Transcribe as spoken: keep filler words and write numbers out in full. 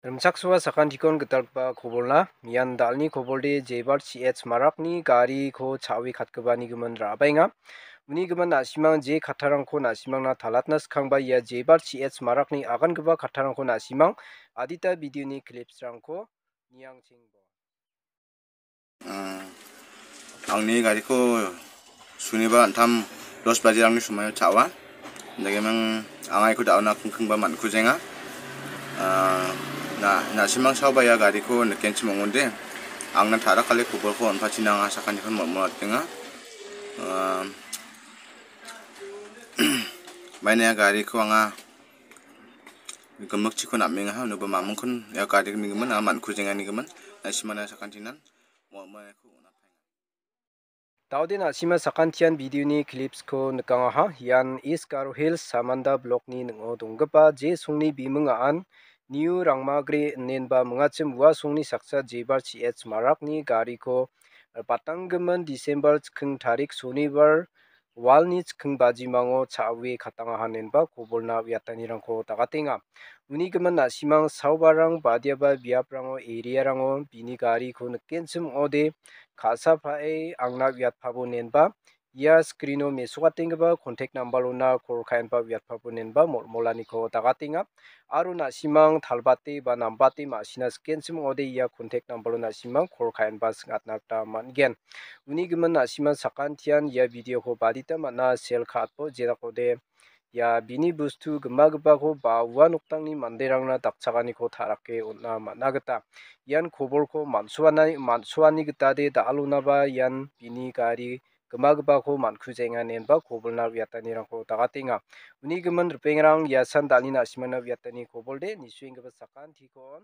Rimchaksoa sakantikon gitalgipa kobolna, ian dalni kobolde Jebar C H Marakni gariko cha·ue katgipani gimin ra·baenga. Uni gimin na·simang je kattarangko na·simangna talatna skangba ia Jebar C H Marakni agangipa kattarangko na·simang adita videoni clipsrangko niangchengbo. Ah, angni gariko suniba an·tam dos bajerangni somoio cha·oa. Dagiming anga iko da·ona kingkingba man·kujenga. Ah, na, na·simang saoba ia gariko nikenchim ong·ode. Angna ta·rakale kobolko on·pachina anga sakantikon mol·molatenga. Ah, maina ia gariko anga gimikchiko nam·enga, unoba mamingkon ia gari gimigimin anga man·kujenganigimin, na·simana sakantinan mol·molko on·atenga. Daode na·sima sakantian videoni clipsko nikangaha. Ian East Garo Hills Samanda Blockni ning·o donggipa je songni biming a·an New Rangmagre inenba mingachim ua songni saksa Jebar C H Marakni gariko, eh, patanggimin December chiking tarik sonibar walni chiking bajimango cha·ue katangaha inenba kobolna uiatanirangko dagatenga. Uni gimin na·simang saobarang badiaba biaprango, area-rango bini gariko nikenchim ong·ode ka·sa pa·e angna uiatpabo inenba ia screen-o mesokatenggipa contact number-ona call ka·enba uiatpabo inenba mol·molaniko dagatenga. Aro na·simang talbate ba nambate ma·sina sikenchim ong·ode ia contact number-o na·simang call ka·enba sing·atna gita man·gen. Uni gimin na·simang sakantian ia videoko badita man·a share ka·atbo, jenakode ia bini bostu gimagipako ba ua noktangni manderangna dakchakaniko ta·rake on·a man·a gita. Ian kobolko man·suana-, man·suani gitade da·alonaba ian bini gari gimagipako man·kujenga inenba kobolna uiatanirangko dagatenga. Uni gimin ripengrang iasan dalni na·simana uiatani kobolde nisuenggipa sakantikon